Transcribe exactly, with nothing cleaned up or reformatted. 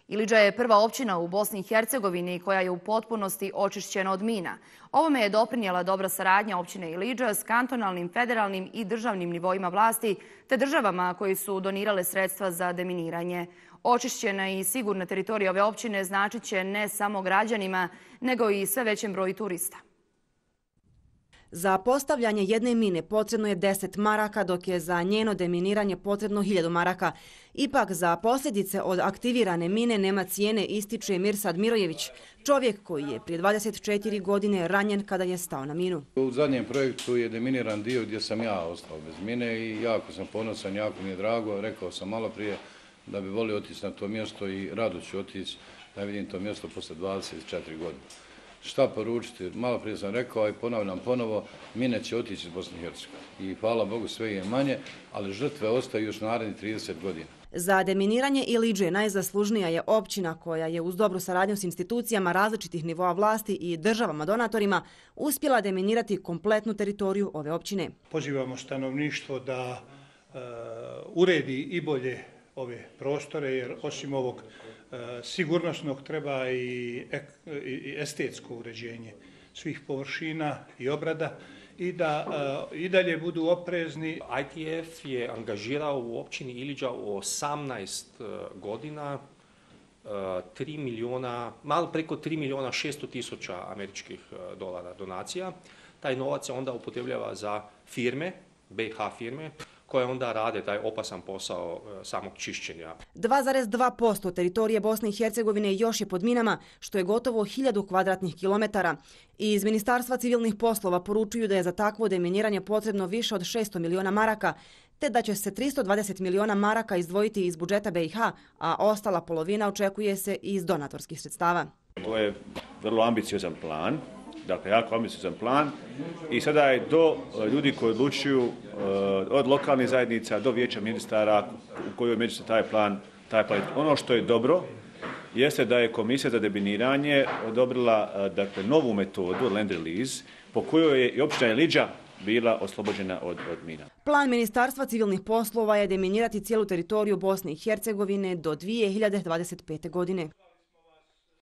Ilidža je prva općina u Bosni i Hercegovini koja je u potpunosti očišćena od mina. Ovome je doprinijela dobra saradnja općine Ilidža s kantonalnim, federalnim i državnim nivoima vlasti te državama koji su donirale sredstva za deminiranje. Očišćena i sigurna teritorija ove općine značit će ne samo građanima, nego i sve većem broju turista. Za postavljanje jedne mine potrebno je deset maraka, dok je za njeno deminiranje potrebno hiljadu maraka. Ipak za posljedice od aktivirane mine nema cijene, ističe Mirsad Mirojević, čovjek koji je prije dvadeset četiri godine ranjen kada je stao na minu. U zadnjem projektu je deminiran dio gdje sam ja ostao bez mine i jako sam ponosan, jako mi je drago. Rekao sam malo prije da bi volio otići na to mjesto i rado ću otići da vidim to mjesto posle dvadeset četiri godine. Šta poručiti? Malo prije sam rekao i ponavljam ponovo, mine će otići iz Bosne i Hercegovine. I hvala Bogu sve je manje, ali žrtve ostaju još narednih trideset godina. Za deminiranje Ilidže najzaslužnija je općina koja je uz dobru saradnju s institucijama različitih nivoa vlasti i državama donatorima uspjela deminirati kompletnu teritoriju ove općine. Pozivamo stanovništvo da uh, uredi i bolje ove prostore, jer osim ovog e, sigurnosnog treba i, ek, i estetsko uređenje svih površina i obrada i da e, i dalje budu oprezni. I T F je angažirao u općini Ilidža u osamnaest godina tri milijuna, malo preko tri milijuna šesto tisuća američkih dolara donacija. Taj novac se onda upotrebljava za firme, B H firme, koje onda rade taj opasan posao samog čišćenja. dva zarez dva posto teritorije Bosne i Hercegovine još je pod minama, što je gotovo hiljadu kvadratnih kilometara. I iz Ministarstva civilnih poslova poručuju da je za takvo deminiranje potrebno više od šesto miliona maraka, te da će se tristo dvadeset miliona maraka izdvojiti iz budžeta B i H, a ostala polovina očekuje se iz donatorskih sredstava. To je vrlo ambiciozan plan. Dakle, jako ambiciozan plan i sada je do ljudi koji odlučuju od lokalnih zajednica do vijeća ministara u kojoj među se taj plan, taj plan. Ono što je dobro jeste da je Komisija za deminiranje odobrila dakle, novu metodu, land release, po kojoj je i općina Ilidža bila oslobođena od, od mina. Plan Ministarstva civilnih poslova je deminirati cijelu teritoriju Bosne i Hercegovine do dvije hiljade dvadeset pete godine.